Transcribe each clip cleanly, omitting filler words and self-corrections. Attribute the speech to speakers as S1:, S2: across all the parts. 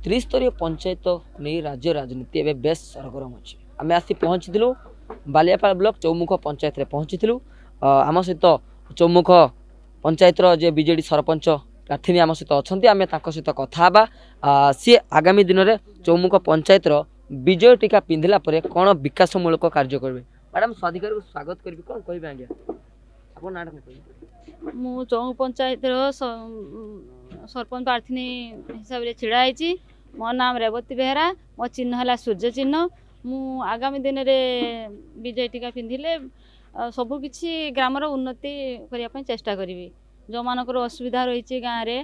S1: ତ୍ରିସ୍ତରୀୟ ପଞ୍ଚାୟତ ନେଇ ରାଜ୍ୟ ରାଜନୀତି ଏବେ ବେଶ ସରଗରମ ଅଛି। ଆମେ ଆସି ପହଞ୍ଚିଥିଲୁ ବାଲିଆପାଳ ବ୍ଲକ ଚୌମୁଖ ପଞ୍ଚାୟତରେ ପହଞ୍ଚିଥିଲୁ। ଆମ ସହିତ ଚୌମୁଖ ପଞ୍ଚାୟତର ଯେ ବିଜେଡ଼ି ସରପଞ୍ଚ ପ୍ରାର୍ଥିନୀ ଆମ ସହିତ ଅଛନ୍ତି, ଆମେ ତାଙ୍କ ସହିତ କଥା ହେବା। ସିଏ ଆଗାମୀ ଦିନରେ ଚୌମୁଖ ପଞ୍ଚାୟତର ବିଜୟ ଟୀକା ପିନ୍ଧିଲା ପରେ କ'ଣ ବିକାଶମୂଳକ କାର୍ଯ୍ୟ କରିବେ। ମ୍ୟାଡ଼ାମ୍, ସ୍ୱାଧିକାରକୁ ସ୍ୱାଗତ କରିବି। କ'ଣ କହିବେ ଆଜ୍ଞା, ଆପଣ ନାଁଟା କ'ଣ କହିବେ?
S2: ମୁଁ ଚୌମୁଖ ପଞ୍ଚାୟତର ସରପଞ୍ଚ ପ୍ରାର୍ଥିନୀ ହିସାବରେ ଛିଡ଼ା ହେଇଛି। ମୋ ନାମ ରେବତୀ ବେହେରା, ମୋ ଚିହ୍ନ ହେଲା ସୂର୍ଯ୍ୟ ଚିହ୍ନ। ମୁଁ ଆଗାମୀ ଦିନରେ ବିଜୟ ଟୀକା ପିନ୍ଧିଲେ ସବୁକିଛି ଗ୍ରାମର ଉନ୍ନତି କରିବା ପାଇଁ ଚେଷ୍ଟା କରିବି। ଯେଉଁମାନଙ୍କର ଅସୁବିଧା ରହିଛି ଗାଁରେ,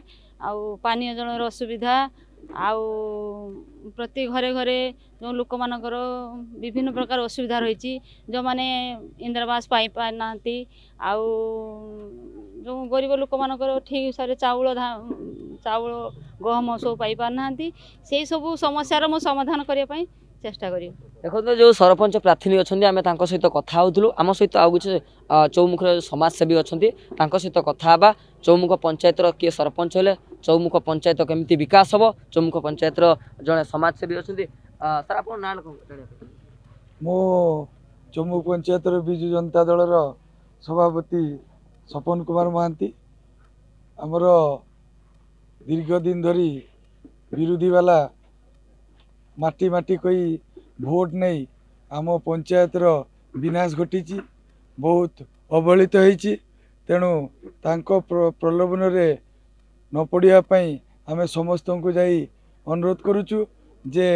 S2: ଆଉ ପାନୀୟ ଜଳର ଅସୁବିଧା, ଆଉ ପ୍ରତି ଘରେ ଘରେ ଯେଉଁ ଲୋକମାନଙ୍କର ବିଭିନ୍ନ ପ୍ରକାର ଅସୁବିଧା ରହିଛି, ଯେଉଁମାନେ ଇନ୍ଦିରାବାସ ପାଇପାରୁନାହାନ୍ତି, ଆଉ ଯେଉଁ ଗରିବ ଲୋକମାନଙ୍କର ଠିକ୍ ହିସାବରେ ଚାଉଳ ଚାଉଳ ଗହମ ସବୁ ପାଇପାରୁନାହାନ୍ତି, ସେଇ ସବୁ ସମସ୍ୟାର ମୁଁ ସମାଧାନ କରିବା ପାଇଁ ଚେଷ୍ଟା କରିବି।
S1: ଦେଖନ୍ତୁ, ଯେଉଁ ସରପଞ୍ଚ ପ୍ରାର୍ଥିନୀ ଅଛନ୍ତି ଆମେ ତାଙ୍କ ସହିତ କଥା ହେଉଥିଲୁ। ଆମ ସହିତ ଆଉ କିଛି ଚୌମୁଖର ସମାଜସେବୀ ଅଛନ୍ତି, ତାଙ୍କ ସହିତ କଥା ହେବା। ଚୌମୁଖ ପଞ୍ଚାୟତର କିଏ ସରପଞ୍ଚ ହେଲେ ଚୌମୁଖ ପଞ୍ଚାୟତ କେମିତି ବିକାଶ ହେବ, ଚୌମୁଖ ପଞ୍ଚାୟତର ଜଣେ ସମାଜସେବୀ ଅଛନ୍ତି। ସାର୍, ଆପଣ ନାଁ କ'ଣ?
S3: ମୁଁ ଚୌମୁଖ ପଞ୍ଚାୟତର ବିଜୁ ଜନତା ଦଳର ସଭାପତି ସପନ କୁମାର ମହାନ୍ତି। ଆମର ଦୀର୍ଘ ଦିନ ଧରି ବିରୋଧୀବାଲା ମାଟି ମାଟି କହି ଭୋଟ ନେଇ ଆମ ପଞ୍ଚାୟତର ବିନାଶ ଘଟିଛି, ବହୁତ ଅବହେଳିତ ହେଇଛି। ତେଣୁ ତାଙ୍କ ପ୍ରଲୋଭନରେ ନ ପଡ଼ିବା ପାଇଁ ଆମେ ସମସ୍ତଙ୍କୁ ଯାଇ ଅନୁରୋଧ କରୁଛୁ ଯେ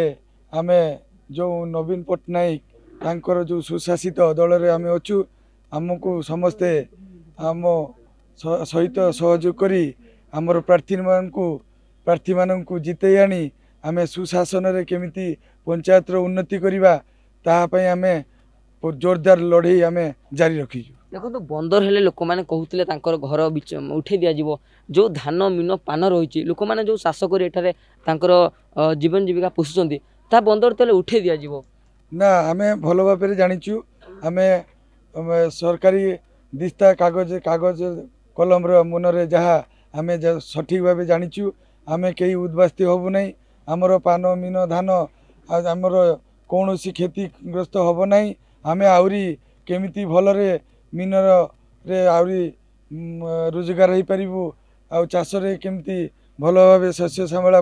S3: ଆମେ ଯେଉଁ ନବୀନ ପଟ୍ଟନାୟକ ତାଙ୍କର ଯେଉଁ ସୁଶାସିତ ଦଳରେ ଆମେ ଅଛୁ, ଆମକୁ ସମସ୍ତେ ଆମ ସହିତ ସହଯୋଗ କରି ଆମର ପ୍ରାର୍ଥୀମାନଙ୍କୁ ଜିତେଇ ଆଣି ଆମେ ସୁଶାସନରେ କେମିତି ପଞ୍ଚାୟତର ଉନ୍ନତି କରିବା ତାହା ପାଇଁ ଆମେ ଜୋରଦାର ଲଢ଼େଇ ଆମେ ଜାରି ରଖିଛୁ।
S1: ଦେଖନ୍ତୁ, ବନ୍ଦର ହେଲେ ଲୋକମାନେ କହୁଥିଲେ ତାଙ୍କର ଘର ଉଠେଇ ଦିଆଯିବ, ଯେଉଁ ଧାନ ମିନ ପାନ ରହିଛି, ଲୋକମାନେ ଯେଉଁ ଚାଷ କରି ଏଠାରେ ତାଙ୍କର ଜୀବନ ଜୀବିକା ପୋଷୁଛନ୍ତି, ତା ବନ୍ଦର ତାହେଲେ ଉଠେଇ ଦିଆଯିବ
S3: ନା? ଆମେ ଭଲ ଭାବରେ ଜାଣିଛୁ, ଆମେ ସରକାରୀ ଦିସ୍ତା କାଗଜ କଲମର ମୁନରେ ଯାହା ଆମେ ସଠିକ୍ ଭାବେ ଜାଣିଛୁ, ଆମେ କେହି ଉଦ୍ବାସ୍ତି ହେବୁ ନାହିଁ। ଆମର ପାନ ମିନ ଧାନ ଆଉ ଆମର କୌଣସି କ୍ଷତିଗ୍ରସ୍ତ ହେବ ନାହିଁ। ଆମେ ଆହୁରି କେମିତି ଭଲରେ ମିନରେ ଆହୁରି ରୋଜଗାର ହେଇପାରିବୁ ଆଉ ଚାଷରେ କେମିତି ଭଲ ଭାବେ ଶସ୍ୟ ଶ୍ୟାମଳା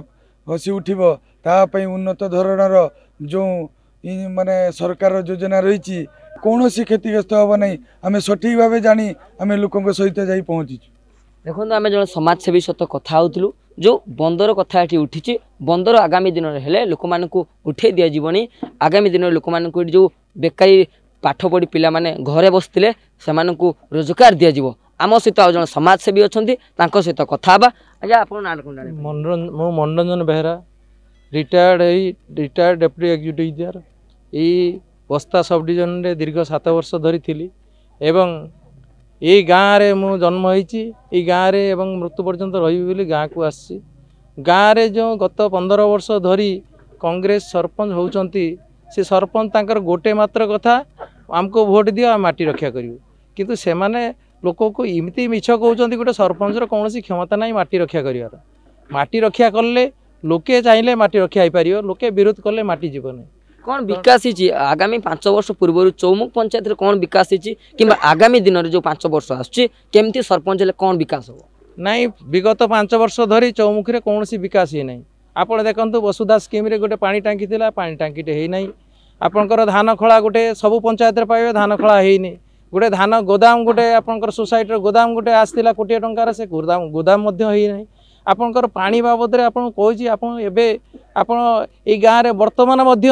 S3: ହସି ଉଠିବ ତା ପାଇଁ ଉନ୍ନତ ଧରଣର ଯେଉଁ ମାନେ ସରକାର ଯୋଜନା ରହିଛି, କୌଣସି କ୍ଷତିଗ୍ରସ୍ତ ହେବ ନାହିଁ। ଆମେ ସଠିକ୍ ଭାବେ ଜାଣି ଆମେ ଲୋକଙ୍କ ସହିତ ଯାଇ ପହଞ୍ଚିଛୁ।
S1: ଦେଖନ୍ତୁ, ଆମେ ଜଣେ ସମାଜସେବୀ ସହିତ କଥା ହେଉଥିଲୁ। ଯେଉଁ ବନ୍ଦର କଥା ଏଠି ଉଠିଛି, ବନ୍ଦର ଆଗାମୀ ଦିନରେ ହେଲେ ଲୋକମାନଙ୍କୁ ଉଠେଇ ଦିଆଯିବନି। ଆଗାମୀ ଦିନରେ ଲୋକମାନଙ୍କୁ ଏଠି ଯେଉଁ ବେକାରୀ ପାଠ ପଢ଼ି ପିଲାମାନେ ଘରେ ବସିଥିଲେ ସେମାନଙ୍କୁ ରୋଜଗାର ଦିଆଯିବ। ଆମ ସହିତ ଆଉ ଜଣେ ସମାଜସେବୀ ଅଛନ୍ତି, ତାଙ୍କ ସହିତ କଥା ହେବା। ଆଜ୍ଞା, ଆପଣ ନାଁ କ'ଣ?
S4: ମୁଁ ମନୋରଞ୍ଜନ ବେହେରା, ରିଟାୟାର୍ଡ଼ ହେଇ ରିଟାୟାର୍ଡ଼ ଡେପୁଟି ଏକ୍ଜିକ୍ୟୁଟିଭ୍ ଇଞ୍ଜିନିୟର। ଏଇ ବସ୍ତା ସବ୍ ଡିଭିଜନରେ ଦୀର୍ଘ 7 ବର୍ଷ ଧରି ଥିଲି ଏବଂ ଏଇ ଗାଁରେ ମୁଁ ଜନ୍ମ ହେଇଛି, ଏଇ ଗାଁରେ ଏବଂ ମୃତ୍ୟୁ ପର୍ଯ୍ୟନ୍ତ ରହିବି ବୋଲି ଗାଁକୁ ଆସିଛି। ଗାଁରେ ଯେଉଁ ଗତ 15 ବର୍ଷ ଧରି କଂଗ୍ରେସ ସରପଞ୍ଚ ହେଉଛନ୍ତି, ସେ ସରପଞ୍ଚ ତାଙ୍କର ଗୋଟେ ମାତ୍ର କଥା, ଆମକୁ ଭୋଟ ଦିଅ, ଆମେ ମାଟି ରକ୍ଷା କରିବୁ। କିନ୍ତୁ ସେମାନେ ଲୋକକୁ ଏମିତି ମିଛ କହୁଛନ୍ତି, ଗୋଟେ ସରପଞ୍ଚର କୌଣସି କ୍ଷମତା ନାହିଁ ମାଟି ରକ୍ଷା କରିବାର। ମାଟି ରକ୍ଷା କଲେ ଲୋକେ ଚାହିଁଲେ ମାଟି ରକ୍ଷା ହେଇପାରିବ, ଲୋକେ ବିରୋଧ କଲେ ମାଟି ଯିବ ନାହିଁ।
S1: କ'ଣ ବିକାଶ ହେଇଛି ଆଗାମୀ 5 ବର୍ଷ ପୂର୍ବରୁ ଚୌମୁଖ ପଞ୍ଚାୟତରେ? କ'ଣ ବିକାଶ ହେଇଛି କିମ୍ବା ଆଗାମୀ ଦିନରେ ଯେଉଁ 5 ବର୍ଷ ଆସୁଛି କେମିତି ସରପଞ୍ଚ ହେଲେ କ'ଣ ବିକାଶ ହେବ?
S4: ନାଇଁ, ବିଗତ 5 ବର୍ଷ ଧରି ଚୌମୁଖରେ କୌଣସି ବିକାଶ ହେଇନାହିଁ। ଆପଣ ଦେଖନ୍ତୁ, ବସୁଧା ସ୍କିମ୍ରେ ଗୋଟେ ପାଣି ଟାଙ୍କି ଥିଲା, ପାଣି ଟାଙ୍କିଟେ ହେଇନାହିଁ। ଆପଣଙ୍କର ଧାନ ଖଳା ଗୋଟେ ସବୁ ପଞ୍ଚାୟତରେ ପାଇବେ, ଧାନ ଖଳା ହେଇନି। ଗୋଟେ ଧାନ ଗୋଦାମ, ଗୋଟେ ଆପଣଙ୍କର ସୋସାଇଟିର ଗୋଦାମ ଗୋଟେ ଆସିଥିଲା କୋଟିଏ ଟଙ୍କାର, ସେ ଗୋଦାମ ମଧ୍ୟ ହେଇନାହିଁ। ଆପଣଙ୍କର ପାଣି ବାବଦରେ ଆପଣଙ୍କୁ କହୁଛି, ଆପଣ ଏବେ ଆପଣ ଏଇ ଗାଁରେ ବର୍ତ୍ତମାନ ମଧ୍ୟ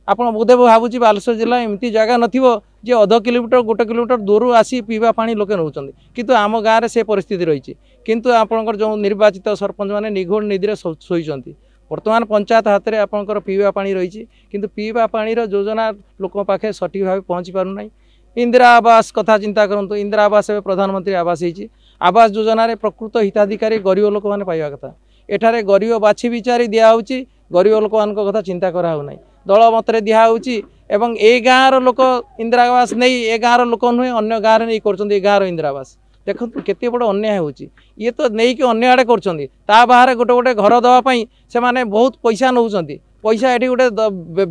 S4: ଆପଣ ବୋଧେ ଭାବୁଛି ବାଲେଶ୍ୱର ଜିଲ୍ଲା ଏମିତି ଜାଗା ନଥିବ ଯେ ଅଧ କିଲୋମିଟର 1 କିଲୋମିଟର ଦୂରରୁ ଆସି ପିଇବା ପାଣି ଲୋକେ ନେଉଛନ୍ତି, କିନ୍ତୁ ଆମ ଗାଁରେ ସେ ପରିସ୍ଥିତି ରହିଛି। କିନ୍ତୁ ଆପଣଙ୍କର ଯେଉଁ ନିର୍ବାଚିତ ସରପଞ୍ଚମାନେ ନିଘୋଡ଼ ନିଧିରେ ଶୋଇଛନ୍ତି। ବର୍ତ୍ତମାନ ପଞ୍ଚାୟତ ହାତରେ ଆପଣଙ୍କର ପିଇବା ପାଣି ରହିଛି, କିନ୍ତୁ ପିଇବା ପାଣିର ଯୋଜନା ଲୋକଙ୍କ ପାଖରେ ସଠିକ୍ ଭାବେ ପହଞ୍ଚି ପାରୁନାହିଁ। ଇନ୍ଦିରା ଆବାସ କଥା ଚିନ୍ତା କରନ୍ତୁ, ଇନ୍ଦିରା ଆବାସ ଏବେ ପ୍ରଧାନମନ୍ତ୍ରୀ ଆବାସ ହେଇଛି। ଆବାସ ଯୋଜନାରେ ପ୍ରକୃତ ହିତାଧିକାରୀ ଗରିବ ଲୋକମାନେ ପାଇବା କଥା, ଏଠାରେ ଗରିବ ବାଛି ବିଚାରି ଦିଆହେଉଛି, ଗରିବ ଲୋକମାନଙ୍କ କଥା ଚିନ୍ତା କରାହେଉନାହିଁ, ଦଳ ମତରେ ଦିଆହେଉଛି। ଏବଂ ଏଇ ଗାଁର ଲୋକ ଇନ୍ଦିରା ଆବାସ ନେଇ ଏ ଗାଁର ଲୋକ ନୁହେଁ ଅନ୍ୟ ଗାଁରେ ନେଇ କରୁଛନ୍ତି ଏ ଗାଁର ଇନ୍ଦିରା ଆବାସ। ଦେଖନ୍ତୁ କେତେ ବଡ଼ ଅନ୍ୟାୟ ହେଉଛି। ଇଏ ତ ନେଇକି ଅନ୍ୟ ଆଡ଼େ କରୁଛନ୍ତି। ତା ବାହାରେ ଗୋଟେ ଗୋଟେ ଘର ଦେବା ପାଇଁ ସେମାନେ ବହୁତ ପଇସା ନେଉଛନ୍ତି। ପଇସା ଏଠି ଗୋଟେ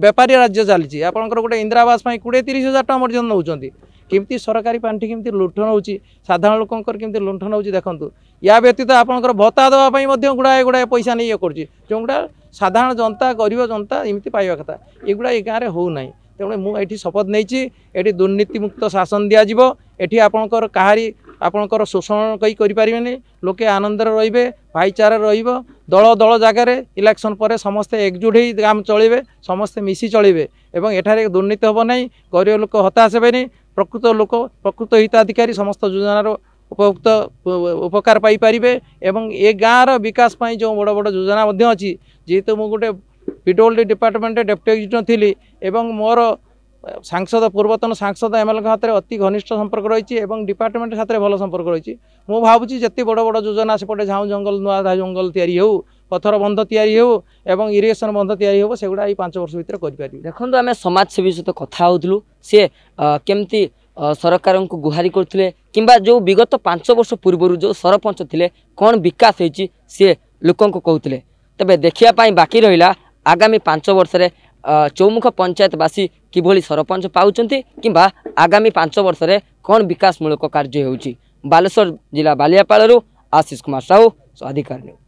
S4: ବେପାରୀ ରାଜ୍ୟ ଚାଲିଛି। ଆପଣଙ୍କର ଗୋଟେ ଇନ୍ଦିରା ଆବାସ ପାଇଁ 20-30 ହଜାର ଟଙ୍କା ପର୍ଯ୍ୟନ୍ତ ନେଉଛନ୍ତି। କେମିତି ସରକାରୀ ପାଣ୍ଠି କେମିତି ଲୁଣ୍ଠନ ହେଉଛି, ସାଧାରଣ ଲୋକଙ୍କର କେମିତି ଲୁଣ୍ଠନ ହେଉଛି ଦେଖନ୍ତୁ। ୟା ବ୍ୟତୀତ ଆପଣଙ୍କର ଭତ୍ତା ଦେବା ପାଇଁ ମଧ୍ୟ ଗୁଡ଼ାଏ ଗୁଡ଼ାଏ ପଇସା ନେଇ ଇଏ କରୁଛି, ଯେଉଁଗୁଡ଼ା ସାଧାରଣ ଜନତା, ଗରିବ ଜନତା ଏମିତି ପାଇବା କଥା, ଏଗୁଡ଼ା ଏ ଗାଁରେ ହେଉନାହିଁ। ତେଣୁ ମୁଁ ଏଠି ଶପଥ ନେଇଛି, ଏଠି ଦୁର୍ନୀତିମୁକ୍ତ ଶାସନ ଦିଆଯିବ। ଏଠି ଆପଣଙ୍କର କାହାରି ଆପଣଙ୍କର ଶୋଷଣ କେହି କରିପାରିବେନି। ଲୋକେ ଆନନ୍ଦରେ ରହିବେ, ଭାଇଚାରା ରହିବ। ଦଳ ଦଳ ଜାଗାରେ ଇଲେକ୍ସନ୍ ପରେ ସମସ୍ତେ ଏକଜୁଟ ହେଇ ଗାଁ ଚଳିବେ, ସମସ୍ତେ ମିଶି ଚଳିବେ ଏବଂ ଏଠାରେ ଦୁର୍ନୀତି ହେବ ନାହିଁ, ଗରିବ ଲୋକ ହତାଶ ହେବେନି। ପ୍ରକୃତ ଲୋକ, ପ୍ରକୃତ ହିତାଧିକାରୀ ସମସ୍ତ ଯୋଜନାର ଉପଭୁକ୍ତ ଉପକାର ପାଇପାରିବେ। ଏବଂ ଏ ଗାଁର ବିକାଶ ପାଇଁ ଯେଉଁ ବଡ଼ ବଡ଼ ଯୋଜନା ମଧ୍ୟ ଅଛି, ଯେହେତୁ ମୁଁ ଗୋଟେ ପିଡବ୍ଲ୍ୟୁଡି ଡିପାର୍ଟମେଣ୍ଟରେ ଡେପୁଟି ଏକ୍ଜିକ୍ୟୁଟିଭ୍ ଥିଲି ଏବଂ ମୋର ସାଂସଦ, ପୂର୍ବତନ ସାଂସଦ ଏମ୍ଏଲ୍ଏଙ୍କ ହାତରେ ଅତି ଘନିଷ୍ଠ ସମ୍ପର୍କ ରହିଛି ଏବଂ ଡିପାର୍ଟମେଣ୍ଟ ସାଥିରେ ଭଲ ସମ୍ପର୍କ ରହିଛି, ମୁଁ ଭାବୁଛି ଯେତେ ବଡ଼ ବଡ଼ ଯୋଜନା ସେପଟେ ଝାଉଁ ଜଙ୍ଗଲ, ନୂଆ ଜଙ୍ଗଲ ତିଆରି ହେଉ, ପଥର ବନ୍ଧ ତିଆରି ହେଉ ଏବଂ ଇରିଗେସନ୍ ବନ୍ଧ ତିଆରି ହେବ, ସେଗୁଡ଼ା ଏଇ 5 ବର୍ଷ ଭିତରେ କରିପାରିବି।
S1: ଦେଖନ୍ତୁ, ଆମେ ସମାଜସେବୀ ସହିତ କଥା ହେଉଥିଲୁ, ସିଏ କେମିତି ସରକାରଙ୍କୁ ଗୁହାରି କରୁଥିଲେ କିମ୍ବା ଯେଉଁ ବିଗତ 5 ବର୍ଷ ପୂର୍ବରୁ ଯେଉଁ ସରପଞ୍ଚ ଥିଲେ କ'ଣ ବିକାଶ ହେଇଛି ସିଏ ଲୋକଙ୍କୁ କହୁଥିଲେ। ତେବେ ଦେଖିବା ପାଇଁ ବାକି ରହିଲା ଆଗାମୀ 5 ବର୍ଷରେ ଚୌମୁଖ ପଞ୍ଚାୟତବାସୀ କିଭଳି ସରପଞ୍ଚ ପାଉଛନ୍ତି କିମ୍ବା ଆଗାମୀ 5 ବର୍ଷରେ କ'ଣ ବିକାଶମୂଳକ କାର୍ଯ୍ୟ ହେଉଛି। ବାଲେଶ୍ୱର ଜିଲ୍ଲା ବାଲିଆପାଳରୁ ଆଶିଷ କୁମାର ସାହୁ, ଅଧିକାର ନ୍ୟୁଜ୍।